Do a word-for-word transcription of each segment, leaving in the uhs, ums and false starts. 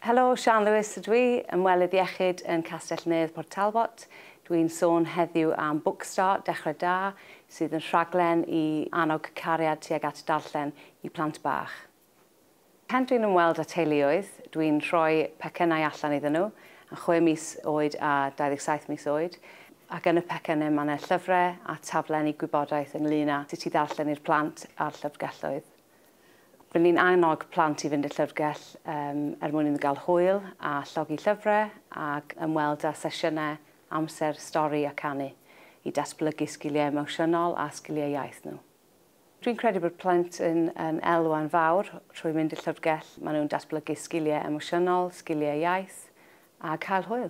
Helo, Sian Lewis ydw i, ymwelydd iechyd yn Castell Nedd Port Talbot. Dwi'n sôn heddiw am Bookstart, Dechrau Da, sydd yn rhaglen i annog cariad tuag at darllen i plant bach. Pan dwi'n ymweld â teuluoedd, dwi'n rhoi pecynnau allan iddyn nhw, yn chwe mis oed a dau ddeg saith mis oed, ac yn y pecynnau mae yna llyfrau a taflenni gwybodaeth ynglyn â sut i ddarllen i'r plant a'r llyfrgelloedd. Rydyn ni'n annog plant i fynd i'r llyfrgell um, er mwyn iddyn nhw gael hwyl a llogi llyfrau ac ymweld â sesiynau amser stori a canu i datblygu sgiliau emosiynol a sgiliau iaith nhw. Dwi'n credu bod plant yn, yn elwa'n fawr trwy mynd i'r llyfrgell. Maen nhw'n datblygu sgiliau emosiynol, sgiliau iaith a cael hwyl.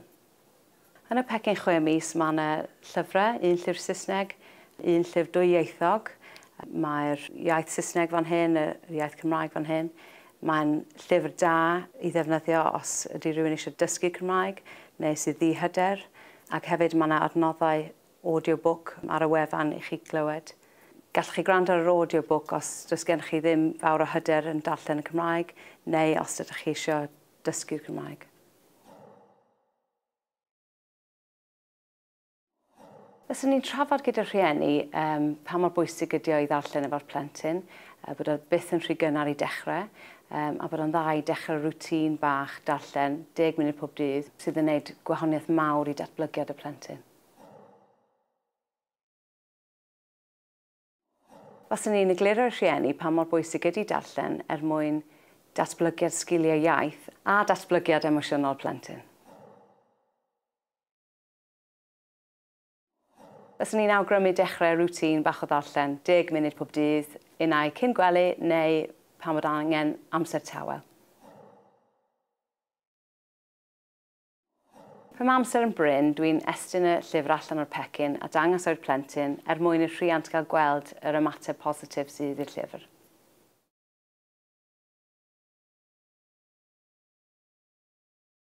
Yn y pecyn chwe mis mae yna llyfrau, un llyfr Saesneg, un llyfr dwyieithog. Mae'r iaith Saesneg fan hyn, yr iaith Cymraeg fan hyn. Mae'n llyfr da i ddefnyddio os ydy rhywun eisiau dysgu Cymraeg neu sydd ddihyder. Ac hefyd mae yna adnoddau audiobook ar y wefan i chi glywed. Gallwch chi gwrando ar yr audiobook os does gennych chi ddim fawr o hyder yn darllen y Cymraeg neu os ydych chi eisiau dysgu'r Cymraeg. Fyswn ni'n trafod gyda rhieni um, pa mor bwysig ydy o i ddarllen efo'r plentyn, uh, bod o byth yn rhy gynnar i dechrau, um, a bod o'n dda i dechrau rwtîn bach darllen deg munud pob dydd sydd yn gwneud gwahaniaeth mawr i datblygiad y plentyn. Faswn ni'n egluro i'r rhieni pa mor bwysig ydy darllen er mwyn datblygiad sgiliau iaith a datblygiad emosiynol plentyn. Fyswn ni'n awgrymu dechrau rwtîn bach o ddarllen, deg munud pob dydd, unai cyn gwely neu pan bod angen amser tawel. Pan mae amser yn brin, dwi'n estyn y llyfr allan o'r pecyn a dangos o'r plentyn er mwyn i'r rhiant gael gweld yr ymateb positif sydd i'r llyfr.